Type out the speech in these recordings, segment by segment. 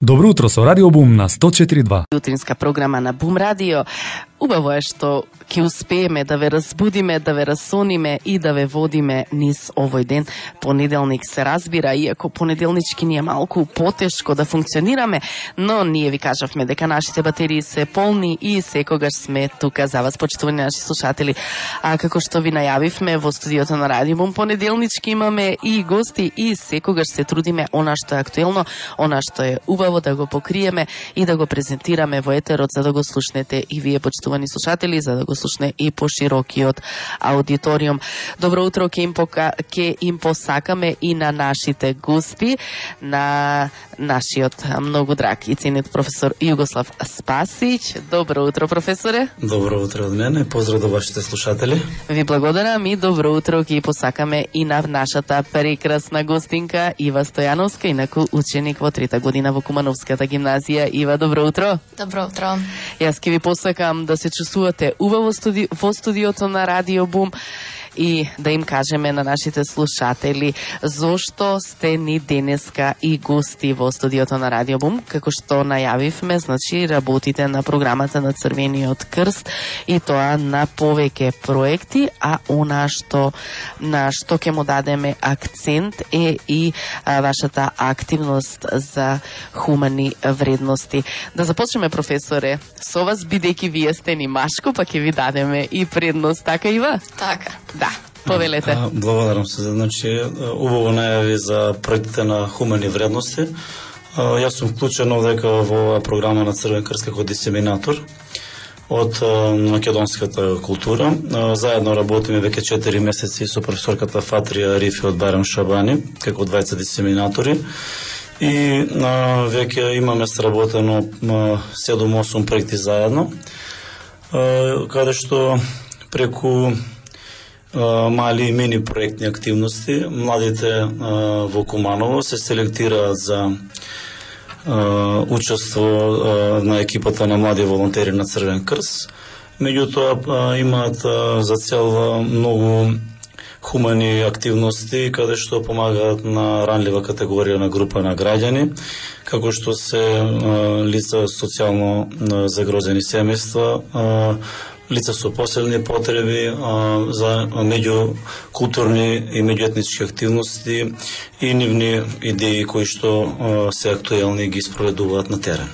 Добро утро со Радио Бум на 104.2. Утринска програма на Бум Радио. Убаво е што ќе успееме да ве разбудиме, да ве расониме и да ве водиме низ овој ден. Понеделник се разбира, иако понеделнички ни е малку потешко да функционираме, но ние ви кажавме дека нашите батерии се полни и секогаш сме тука за вас, почитувани наши слушатели. А како што ви најавивме во студиото на Радио Бум, понеделнички имаме и гости и секогаш се трудиме она што е актуелно, она што е убаво да го покриеме и да го презентираме во етерот, за да го слушнете и вие, почитувани слушатели, за да го слушне и поширокиот аудиториум. Добро утро ќе им посакаме и на нашите гости, на нашиот многу драг и ценет професор Југослав Спасич. Добро утро, професоре. Добро утро од мене, поздрав до вашите слушатели. Ви благодарам и добро утро ќе посакаме и на нашата прекрасна гостинка Ива Стојановска, инаку ученик во 3-та година во Кумановската гимназија. Ива, добро утро. Добро утро. Јас ќе ви посакам да се чувствувате убаво во студиото на Радио Бум и да им кажеме на нашите слушатели зошто сте ни денеска и гости во студиото на Радио Бум. Како што најавивме, значи работите на програмата на Црвениот крст и тоа на повеќе проекти, а она што на што ќе му дадеме акцент е и вашата активност за хумани вредности. Да започнеме, професоре, со вас, бидејќи вие сте ни машко, па ќе ви дадеме и предност, така Ива? Така. Да, повелете. Благодарам се. Значи, убаво најави за проектите на хумани вредности. Јас сум вклучен овдека во оваа програма на Црвен крст како дисеминатор од македонската култура. Заедно работиме веќе 4 месеци со професорката Фатрија Рифи од Барем Шабани, како двајца дисеминатори. И веќе имаме сработено 7-8 проекти заедно, каде што преку мали и мини проектни активности младите во Куманово се селектираат за учество на екипата на млади волонтери на Црвен крст. Меѓутоа имаат за цел многу хумани активности каде што помагаат на ранлива категорија на група на граѓани, како што се лица социјално загрозени семејства, лица со посебни потреби, за меѓукултурни и меѓуетнички активности и нивни идеи кои што се актуелни и ги спроведуваат на терен.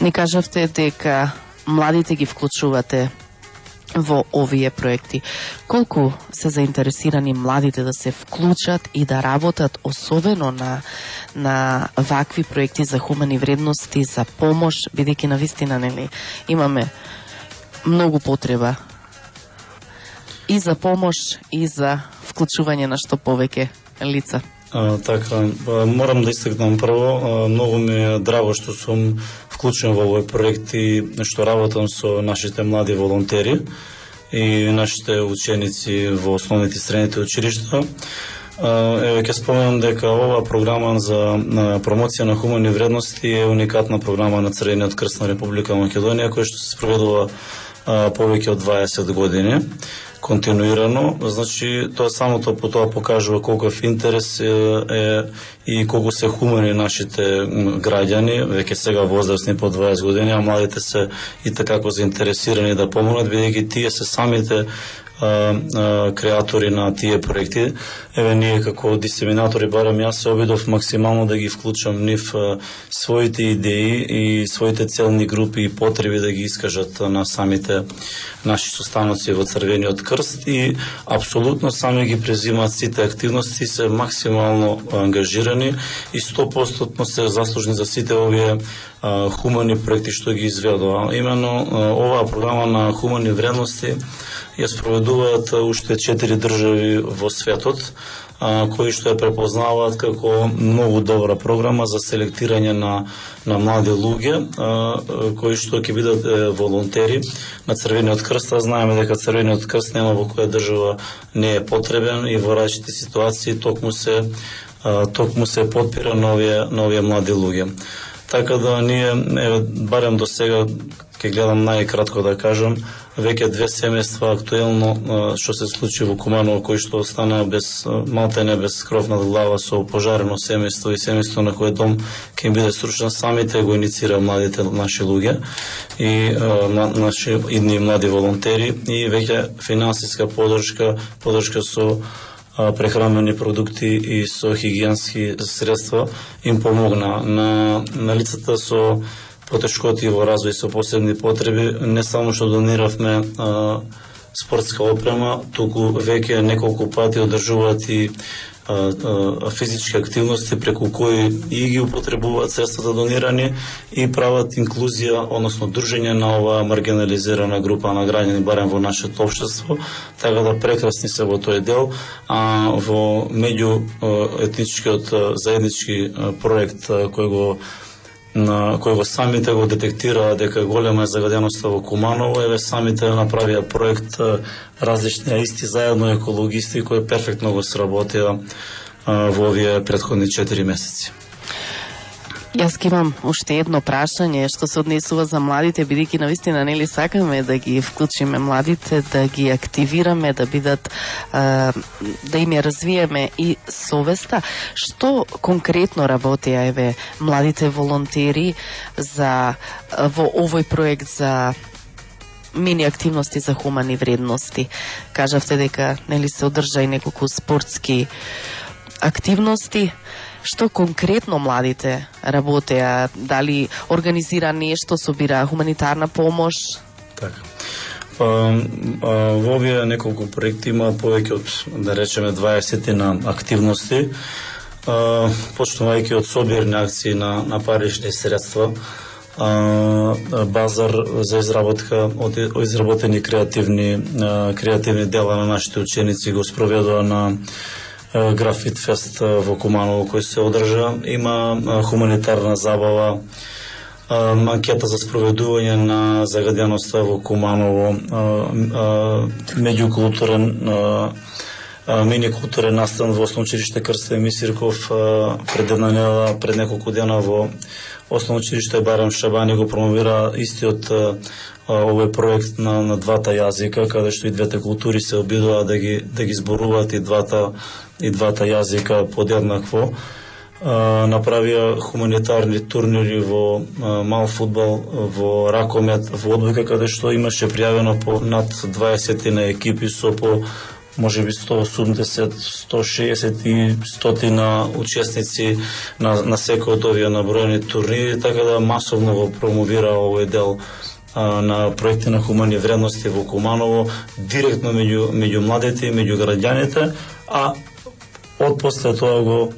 Ни кажавте дека младите ги вклучувате во овие проекти. Колку се заинтересирани младите да се вклучат и да работат особено на вакви проекти за хумани вредности, за помош, бидејќи навистина нели имаме многу потреба и за помош и за вклучување на што повеќе лица. Така, морам да истакнам прво, многу ми е драго што сум вклучен во овој проект и што работам со нашите млади волонтери и нашите ученици во основните и средните училишта. Еве ќе споменам дека оваа програма за промоција на хумани вредности е уникатна програма на Црвениот крст на Република Македонија, која што се спроведува повеќе од 20 години континуирано. Значи, тоа самото по тоа покажува колков интерес е и колку се хумани нашите граѓани, веќе сега возрастни по 20 години, а младите се и такако заинтересирани да помогнат, бидејќи тие се самите креатори на тие проекти. Еве ние како дисеминатори, барем јас се обидов максимално да ги вклучам нив своите идеи и своите целни групи и потреби да ги искажат на самите наши состаноци во Црвениот крст и апсолутно сами ги презимаат сите активности, се максимално ангажирани и 100% се заслужни за сите овие хумани проекти што ги изведува. Именно оваа програма на хумани вредности ја спроведуваат уште 4 држави во светот, кои што ја препознаваат како многу добра програма за селектирање на млади луѓе, кои што ќе бидат волонтери на Црвениот крст. Знаеме дека Црвениот крст нема во која држава не е потребен и во различити ситуации токму се подпира на овие млади луѓе. Така да ние, барем до сега, ќе гледам најкратко да кажам, веќе 2 семејства актуелно што се случи во Куманово, кои што остана без малтене без кров над глава со пожарено семејство и семејство на кој дом ќе им биде срушен, самите го инициира младите наши луѓе и наши идни млади волонтери и веќе финансиска поддршка со прехранбени продукти и со хигиенски средства им помогна на лицата со потешкоти во развој со посебни потреби. Не само што дониравме спортска опрема, туку веќе неколку пати одржуваат и физички активности преку кои и ги употребуваат средствата донирани и прават инклузија, односно дружење на оваа маргинализирана група на граѓани, барем во нашето општество, така да прекрасни се во тој дел. А во меѓуетничкиот заеднички проект кој го самите го детектираа дека голема е загаденоста во Куманово, еве самите направија проект различни, исти заедно екологисти кои перфектно го сработија во овие претходни 4 месеци. Јас имам уште едно прашање што се однесува за младите, бидејќи навистина нели сакаме да ги вклучиме младите, да ги активираме, да бидат да им ја развиеме и совеста. Што конкретно работеа еве младите волонтери во овој проект за мини активности за хумани вредности? Кажавте дека нели се одржа и неколку спортски активности. Што конкретно младите работеа? Дали организира нешто, собира хуманитарна помош? Така. Во овие неколку проекти има повеќе од, да речеме, 20 на активности, почнувајќи од собирни акции на парични средства, базар за изработка од изработени креативни дела на нашите ученици го спроведува на Графит фест во Куманово кој се одржа. Има хуманитарна забава, анкета за спроведување на загаденоста во Куманово, меѓукултурен мини-културен настан во Основно училиште Крстен Мисирков пред една недела, пред неколку дена во Основно училиште Барем Шабани го промовира истиот овој проект на двата јазика, каде што и двете култури се обидува да ги зборуваат и двата јазика подеднакво. Направија хуманитарни турнири во мал фудбал, во ракомет, во одбојка, каде што имаше пријавено по над 20 на екипи со по можеби 180, 160 и 100 на учесници на секој од овие наброени турнири, така да масовно го промовира овој дел на проекти на хумани вредности во Куманово, директно меѓу младите и меѓу граѓаните, а од после тоа го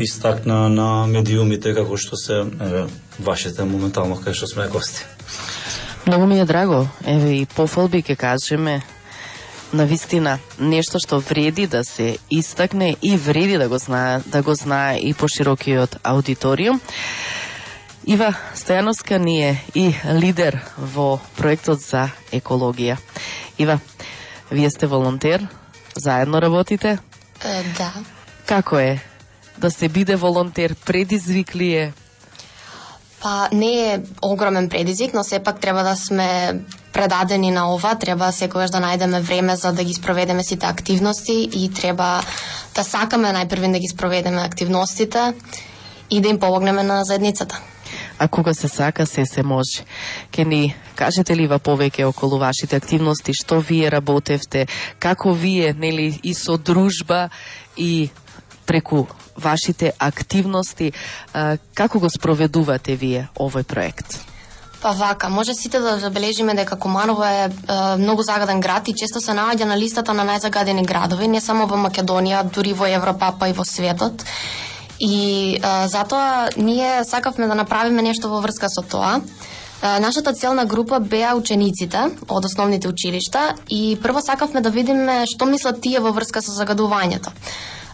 истакна на медиумите како што се вашите моментално кај што сме гости. Многу ми е драго, еве и пофалби ќе кажеме, навистина нешто што вреди да се истакне и вреди да го знае и поширокиот аудиториум. Ива Стојановска ни е и лидер во проектот за екологија. Ива, вие сте волонтер, заедно работите? Да. Како е да се биде волонтер? Предизвик ли е? Па не е огромен предизвик, но сепак треба да сме предадени на ова, треба секогаш да најдеме време за да ги спроведеме сите активности и треба да сакаме најпрви да ги спроведеме активностите и да им помогнеме на заедницата. А кога се сака, се може. Ке ни кажете ли повеќе околу вашите активности, што вие работевте, како вие, нели, и со дружба и преку вашите активности, како го спроведувате вие овој проект? Па вака, може сите да забележиме дека Куманово е многу загаден град и често се наоѓа на листата на најзагадени градови, не само во Македонија, дури во Европа, па и во светот. И затоа ние сакавме да направиме нешто во врска со тоа. Нашата целна група беа учениците од основните училишта и прво сакавме да видиме што мислат тие во врска со загадувањето.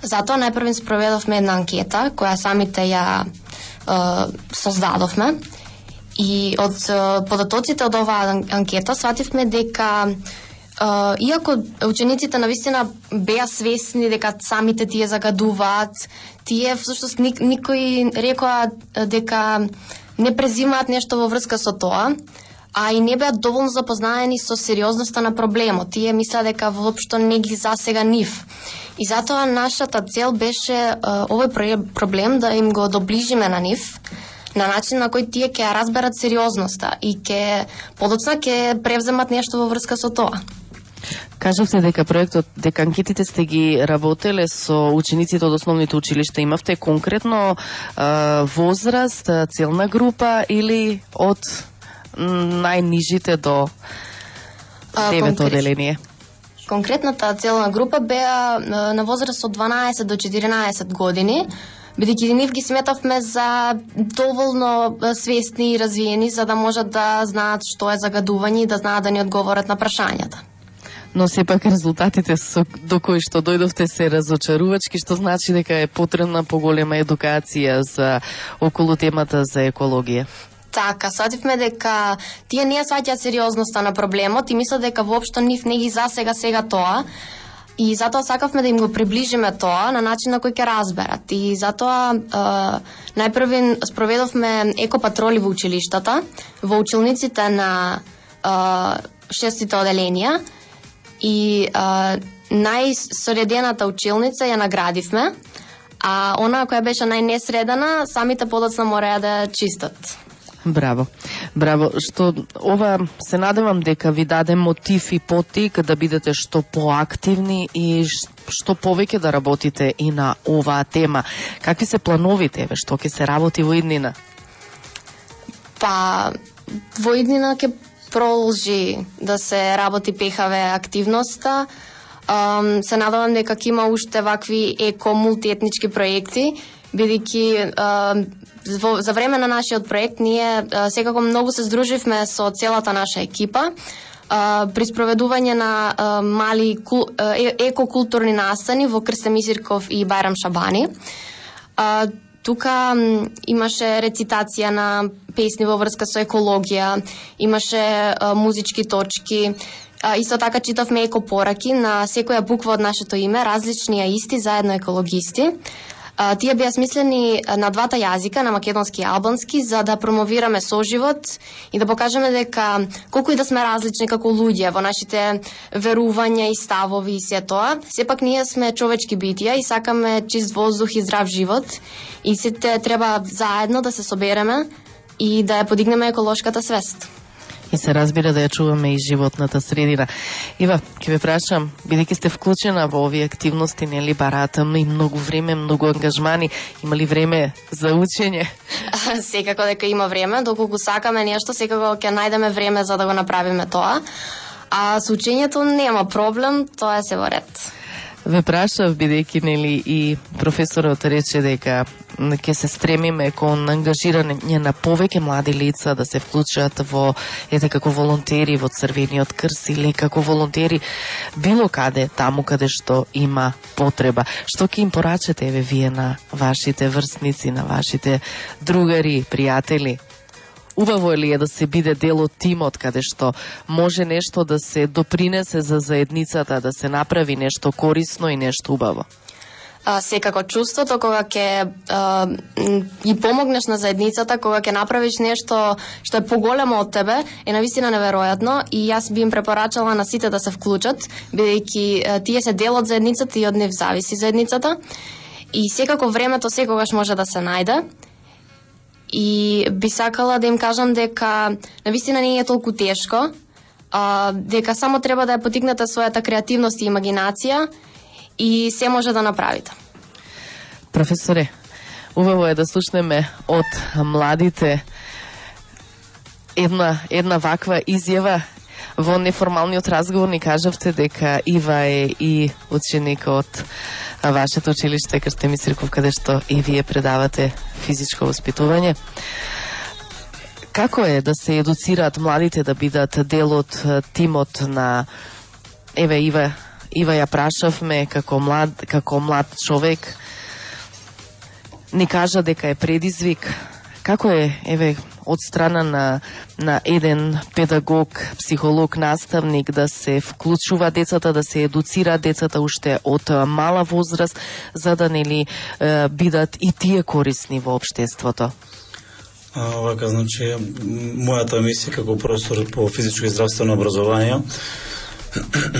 Затоа најпрво спроведовме една анкета која самите ја создадовме и од податоците од оваа анкета свативме дека иако учениците навистина беа свесни дека самите тие загадуваат, тие всушност никој рекоа дека не презимаат нешто во врска со тоа, а и не беа доволно запознаени со сериозноста на проблемот. Тие мислеа дека воопшто не ги засега нив. И затоа нашата цел беше овој проблем да им го доближиме на нив, на начин на кој тие ќе разберат сериозноста и ќе подоцна ќе превземат нешто во врска со тоа. Кажавте дека проектот, дека анкетите сте ги работеле со учениците од основните училишта. Имавте конкретно возраст, целна група или од најнижите до 9 оделение? Конкретната целна група беа на возраст од 12 до 14 години, бидејќи нив ги сметавме за доволно свесни и развиени за да можат да знаат што е загадување и да знаат да ни одговорат на прашањата. Но сепак резултатите до кои што дојдовте се разочарувачки, што значи дека е потребна поголема едукација за околу темата за екологија. Така, свативме дека тие не сваќаат сериозноста на проблемот и мислат дека воопшто нив не ги засега сега тоа. И затоа сакавме да им го приближиме тоа на начин на кој ќе разберат. И затоа најпрви спроведовме екопатроли во училиштата, во училниците на 6-тите оделенија и најсоредената училница ја наградивме, а она која беше најнесредена, самите подоцна мораја да чистат. Браво. Браво. Што ова се надевам дека ви даде мотив и поттик да бидете што поактивни и што повеќе да работите и на оваа тема. Какви се плановите, што ќе се работи во иднина? Па во иднина ќе продолжи да се работи пехаве активноста. Се надевам дека ќе има уште вакви еко-мултиетнички проекти, бидејќи за време на нашиот проект ние секако многу се здруживме со целата наша екипа при спроведување на мали екокултурни настани во Крстен Мисирков и Бајрам Шабани. Тука имаше рецитација на песни во врска со екологија, имаше музички точки, исто така читавме екопораки на секоја буква од нашето име, различни а исти, заедно екологисти. Тие беа смислени на двата јазика, на македонски и албански, за да промовираме соживот и да покажеме дека колку и да сме различни како луѓе во нашите верувања и ставови и се тоа, сепак ние сме човечки битија и сакаме чист воздух и здрав живот и сите треба заедно да се собереме и да ја подигнеме еколошката свест. И се разбира да ја чуваме и животната средина. Ива, ќе ве прашам, бидејќи сте вклучена во овие активности, нели бараата и многу време, многу ангажмани, има ли време за учење? Секако дека има време, доколку сакаме нешто, секако ќе најдеме време за да го направиме тоа. А со учењето нема проблем, тоа е се во ред. Ве прашав, бидејќи нели и професорот рече дека ќе се стремиме кон ангажирање на повеќе млади лица да се вклучат во како волонтери во Црвениот крст или како волонтери било каде таму каде што има потреба. Што ќе им порачате еве вие на вашите врсници, на вашите другари, пријатели? Убаво ли е да се биде дел од тимот каде што може нешто да се допринесе за заедницата, да се направи нешто корисно и нешто убаво? Секако чувството кога ќе ги помогнеш на заедницата, кога ќе направиш нешто што е поголемо од тебе, е навистина неверојатно и јас би им препорачала на сите да се вклучат, бидејќи тие се дел од заедницата и од нив зависи заедницата. И секако времето секогаш може да се најде. И би сакала да им кажам дека навистина не е толку тешко, дека само треба да ја потикнете својата креативност и имагинација и се може да направите. Професоре, убаво е да слушнеме од младите една ваква изјава. Во неформалниот разговор ни кажавте дека Ива е и ученик од вашето училиште Крстен Мисирков, каде што и вие предавате физичко воспитување. Како е да се едуцираат младите да бидат дел од тимот на Ива ја прашавме како млад човек, ни кажа дека е предизвик. Како е од страна на еден педагог, психолог, наставник да се вклучува децата, да се едуцира децата уште од мала возраст, за да нели бидат и тие корисни во општеството? Вака, значи, мојата мисија како професор по физичко и здравствено образование,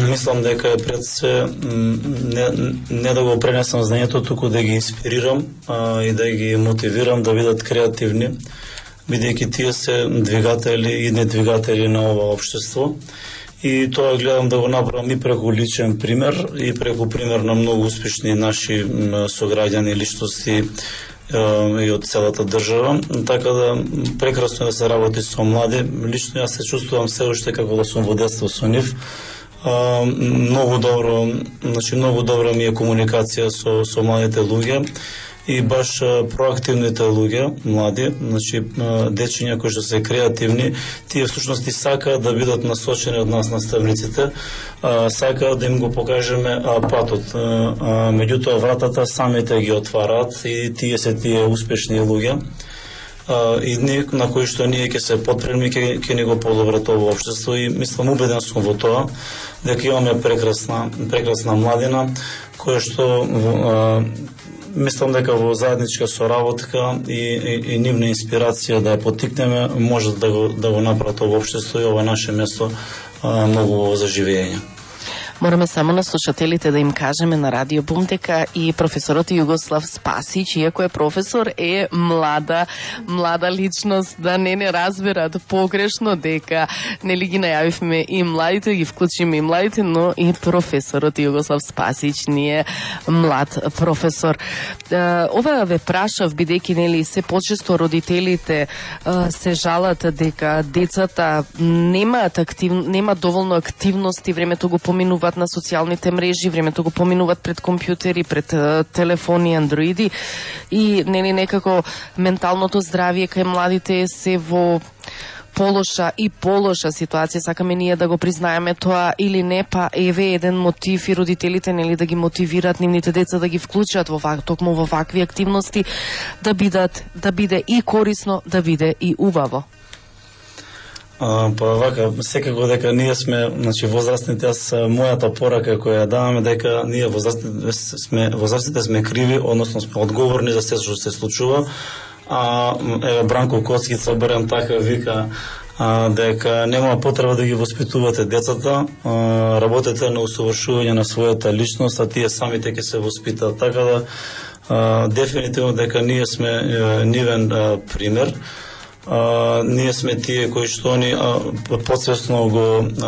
мислам дека е пред се не да го пренесам знанието, туку да ги инспирирам и да ги мотивирам да бидат креативни, бидејќи тие се двигатели и недвигатели на ова општество. И тоа гледам да го направам и преку личен пример и преку пример на многу успешни наши сограѓани, личности и од целата држава. Така да прекрасно да се работи со млади. Лично јас се чувствувам се уште како да сум во детство со нив. Многу добро ми е комуникација со младите луѓе и баш проактивните луѓе, млади, значи дечиња кои што се креативни, тие всушност и сакаат да бидат насочени од нас наставниците, сакаат да им го покажеме патот. Меѓутоа вратата самите ги отвараат и тие се тие успешни луѓе. И на кои што ние ќе се потпреми, ќе ни го подобрат ово општество и мислам, убеден сум во тоа, дека имаме прекрасна младина, која што мислам дека во заедничка соработка и нивна инспирација да ја поттикнеме, може да го направат ово општество и ова наше место многу за живење. Мораме само на слушателите да им кажеме на Радио Бум дека и професорот Југослав Спасич, иако е професор, е млада личност, да не разберат погрешно дека нели ги најавивме и младите, ги вклучиме и младите, но и професорот Југослав Спасич не е млад професор. Ова ве прашав бидејќи нели се почесто родителите се жалат дека децата нема доволно активности, времето го поминуваат на социјалните мрежи, времето го поминуваат пред компјутери, пред телефони, андроиди и нели некако менталното здравје кај младите се во полоша ситуација, сакаме ние да го признаеме тоа или не, па еве еден мотив и родителите нели да ги мотивираат нивните деца да ги вклучат токму во вакви активности, да биде и корисно, да биде и убаво. Па вака, секако дека ние сме, значи возрастните, мојата порака која даваме дека ние возрастните сме криви, односно сме одговорни за се што се случува. Еве Бранко Коцкица барем така вика дека нема потреба да ги воспитувате децата, работете на усовршување на својата личност, а тие самите ќе се воспитаат. Така да дефинитивно дека ние сме нивен пример. Ние сме тие кои што они подсвесно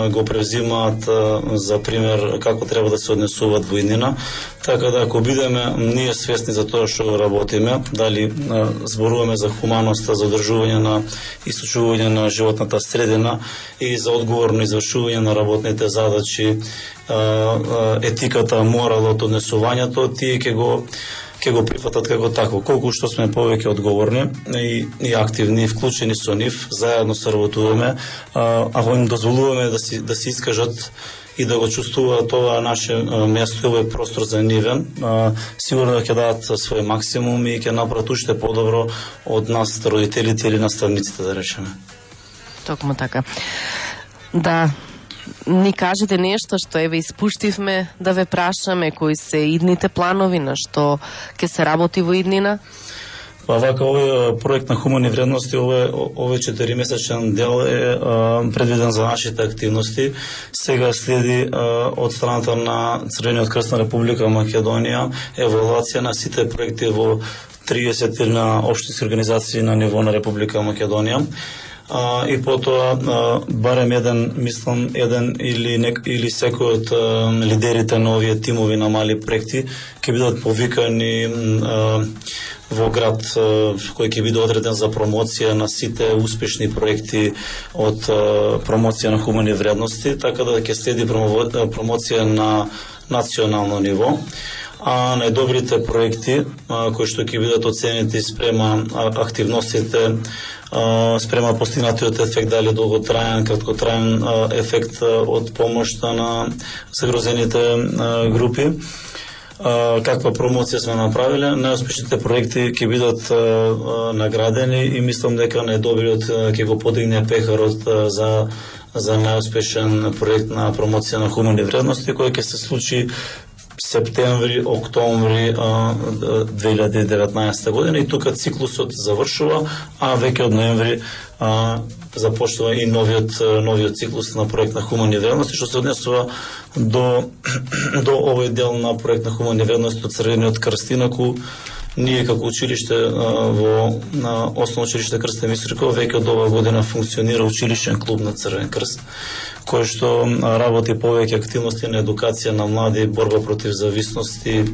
го превзимаат за пример како треба да се однесуваат во иднина. Така да ако бидеме ние свесни за тоа што работиме, дали зборуваме за хуманоста, за одржување на и сочувување на животната средина и за одговорно извршување на работните задачи, етиката, моралот, однесувањето, тие ќе го прифатат како тако. Колку што сме повеќе одговорни и активни, вклучени со нив, заедно соработуваме, ако им дозволуваме да се искажат и да го чувствуваат тоа наше место, овој простор за нивен, сигурно ќе дадат свој максимум и ќе направат уште подобро од нас, родителите или наставниците, да речеме. Токму така. Да, ни кажете нешто што еве испуштивме да ве прашаме, кои се идните планови, на што ќе се работи во иднина? Па вака, овој проект на хумани вредности, овој 4-месечен дел е предвиден за нашите активности. Сега следи од страната на Црвениот крст на Република Македонија евалуација на сите проекти во 30 на општински организации на ниво на Република Македонија. И потоа барем еден или секој од лидерите на овие тимови на мали проекти ќе бидат повикани во град кој ќе биде одреден за промоција на сите успешни проекти од промоција на хумани вредности, така да ќе следи промоција на национално ниво. А најдобрите проекти кои што ќе бидат оценети спрема активностите, спрема постигнатиот ефект, дали долготраен, краткотраен ефект од помошта на загрозените групи. Каква промоција сме направиле, најуспешните проекти ќе бидат наградени и мислам дека најдобриот ќе го подигне пехарот за најуспешен проект на промоција на хумани вредности, кој ќе се случи септември, октомври 2019 година и тука циклусот завршува, а веќе од ноември започнува и новиот циклус на проект на хумани вредности, што се однесува до овој дел на проект на хумани вредности од Црвениот крст. Инаку ние како училиште во Основно училиште Крстен Мистриков веќе од оваа година функционира училишен клуб на Црвен крст, кој што работи повеќе активности на едукација на млади, борба против зависности,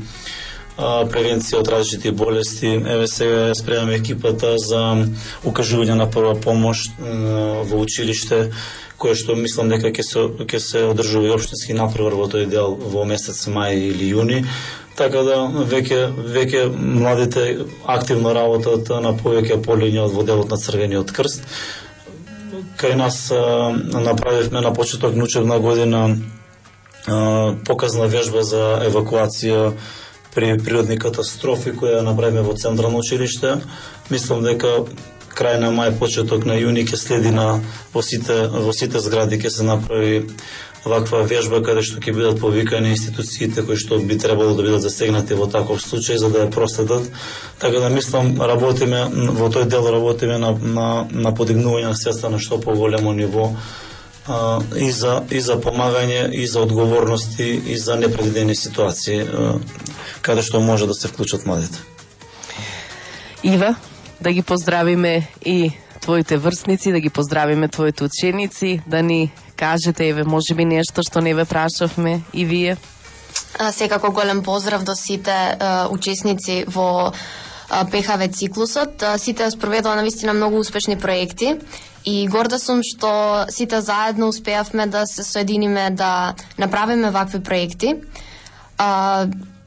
превенција од различити болести. Еве сега спремаме екипата за укажување на прва помош во училиште, кој што мислам дека ќе се одржува и општински натпревар во тој дел во месец мај или јуни. Така да веќе младите активно работат на повеќе полиња од во делот на Црвениот крст. Кај нас направивме на почеток на учебна година показна вежба за евакуација при природни катастрофи која направиме во Централно училиште. Мислам дека крај на мај, почеток на јуни ќе следи во сите згради ќе се направи ваква вежба каде што ќе бидат повикани институциите кои што би требало да бидат засегнати во таков случај за да ја проследат. Така да мислам работиме во тој дел на подигнување на свеста на што поголемо ниво и за помагање и за одговорности и за непредвидени ситуации каде што може да се вклучат младите. Ива, да ги поздравиме и твоите врсници, да ги поздравиме твоите ученици, да ни кажете, еве, можеби нешто што не ве прашавме и вие. Секако голем поздрав до сите учесници во ПХВ циклусот. Сите спроведува навистина многу успешни проекти и горда сум што сите заедно успеавме да се соединиме да направиме вакви проекти.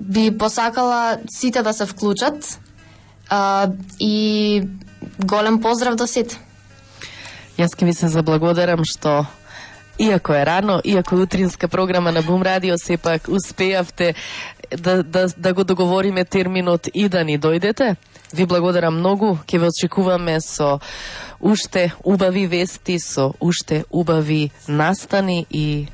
Би посакала сите да се вклучат и голем поздрав до сите. Јас ке ви се заблагодарам што иако е рано, иако е утринска програма на Бум Радио, сепак успеавте да го договориме терминот и да ни дојдете. Ви благодарам многу, ќе ве очекуваме со уште убави вести, со уште убави настани и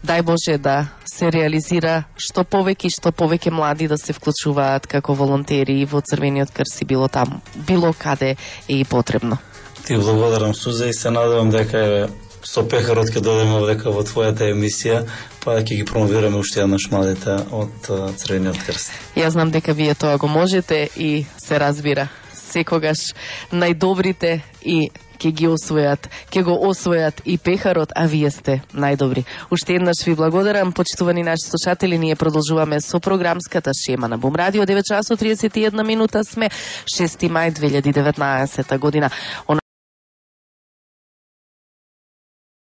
дај Боже да се реализира што повеќе млади да се вклучуваат како волонтери во Црвениот крст и било каде е и потребно. Ти благодарам, Суза, и се надевам дека со пехарот ќе дојдеме овдека во твојата емисија, па ќе ги промовираме уште еднаш младите од Црвениот крст. Јас знам дека вие тоа го можете и се разбира. Секогаш најдобрите и ќе го освојат и пехарот, а вие сте најдобри. Уште еднаш ви благодарам, почитувани наши слушатели, ние продолжуваме со програмската шема на Бум Радио. 9 часот 31 минута сме, 6 мај 2019 година.